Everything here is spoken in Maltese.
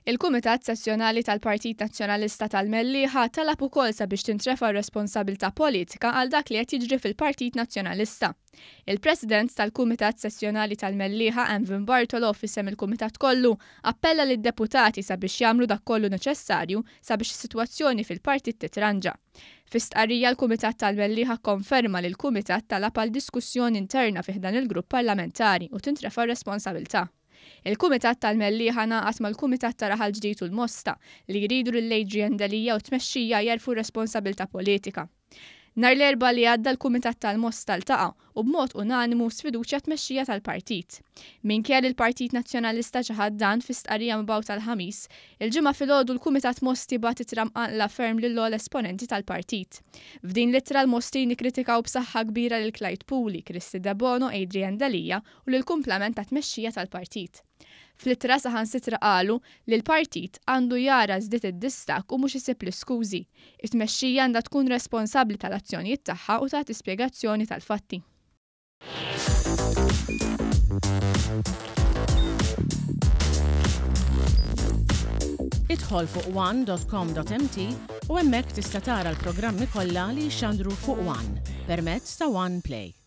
Il-Kumitat Sezzjonali tal-Partit Nazzjonalista tal-Mellieħa talab ukoll sabiex tintrefa' r-responsabilità politika għal dak li qed jiġri fil-Partit Nazzjonalista. Il-President tal-Kumitat Sezzjonali tal-Mellieħa Anvin Bartolo f'isem il-Kumitat kollu appella lid-deputati sabiex jagħmlu dak kollu neċessarju sabiex is-sitwazzjoni fil-partit titranġa. Fi stqarrija l-Kumitat tal-Mellieħa kkonferma li l-Kumitat talab għal diskussjoni interna fi ħdan il-grupp parlamentari u tintrefa' r-responsabilità. Il-Kumitat tal-Mellieħa ngħaqad mal-Kumitat ta' Raħal Ġdid u l-Mosta li jridu lil Adrian Delia u t-tmexxija jerfgħu r-responsabilità politika. Nhar l-Erbgħa li għadda l-Kumitat tal-Mosta ltaqa' u b'mod unanimu sfiduċja t-tmexxija tal-partit. Minkejja li l-Partit Nazzjonalista ċaħad dan fi stqarrija mibgħuta l-Ħamis, il-Ġimgħa filgħodu l-Kumitat Mosti bagħat ittra mqanqla ferm lill-ogħla esponenti tal-partit. F'din l-ittra l-Mostin ikkritikaw b'saħħa kbira lil Clyde Puli, Kristy Debono, Adrian Delia u lill-kumplament tat-tmexxija tal-partit. Fl-ittra saħansitra qalu li l-partit għandu jara żdied id-distakk u mhux isib l-iskużi. It-tmexxija għandha tkun responsabbli tal-azzjonijiet tagħha u tagħti spjegazzjoni tal-fatti. Idħol fuq one.com.mt u hemmhekk tista' tara l-programmi kollha li jixxandru fuq One permezz ta' One Play.